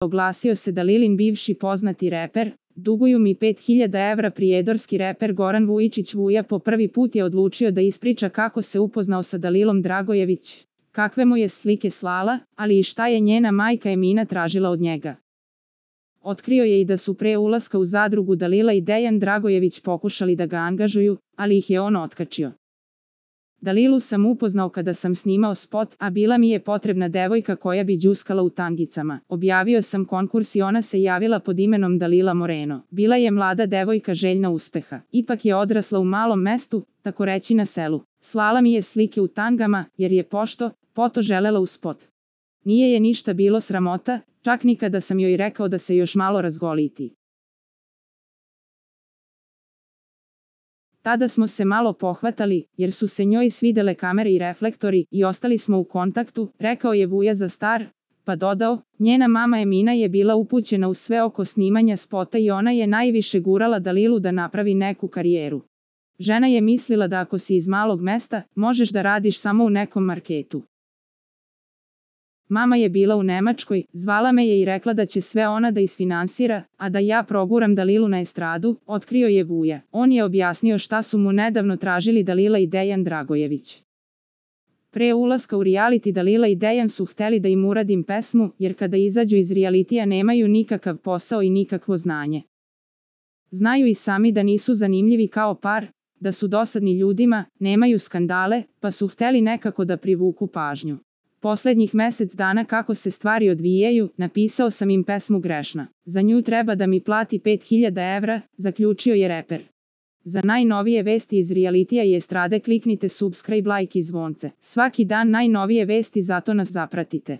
Oglasio se Dalilin bivši poznati reper, duguju mi 5000 evra. Prijedorski reper Goran Vujičić Vuja po prvi put je odlučio da ispriča kako se upoznao sa Dalilom Dragojević, kakve mu je slike slala, ali i šta je njena majka Emina tražila od njega. Otkrio je i da su pre ulaska u zadrugu Dalila i Dejan Dragojević pokušali da ga angažuju, ali ih je on otkačio. Dalilu sam upoznao kada sam snimao spot, a bila mi je potrebna devojka koja bi đuskala u tangicama. Objavio sam konkurs i ona se javila pod imenom Dalila Moreno. Bila je mlada devojka željna uspeha. Ipak je odrasla u malom mestu, tako reći na selu. Slala mi je slike u tangama, jer je poto želela u spot. Nije je ništa bilo sramota, čak ni kada sam joj rekao da se još malo razgoliti. Tada smo se malo pohvatali, jer su se njoj svidele kamere i reflektori i ostali smo u kontaktu, rekao je Vuja za Star, pa dodao, njena mama Emina je bila upućena u sve oko snimanja spota i ona je najviše gurala Dalilu da napravi neku karijeru. Žena je mislila da ako si iz malog mesta, možeš da radiš samo u nekom marketu. Mama je bila u Nemačkoj, zvala me je i rekla da će sve ona da isfinansira, a da ja proguram Dalilu na estradu, otkrio je Vuja. On je objasnio šta su mu nedavno tražili Dalila i Dejan Dragojević. Pre ulaska u reality Dalila i Dejan su hteli da im uradim pesmu, jer kada izađu iz realitija nemaju nikakav posao i nikakvo znanje. Znaju i sami da nisu zanimljivi kao par, da su dosadni ljudima, nemaju skandale, pa su hteli nekako da privuku pažnju. Poslednjih mesec dana kako se stvari odvijaju, napisao sam im pesmu Grešna. Za nju treba da mi plati 5000 evra, zaključio je reper. Za najnovije vesti iz realitija i estrade kliknite subscribe, like i zvonce. Svaki dan najnovije vesti, zato nas zapratite.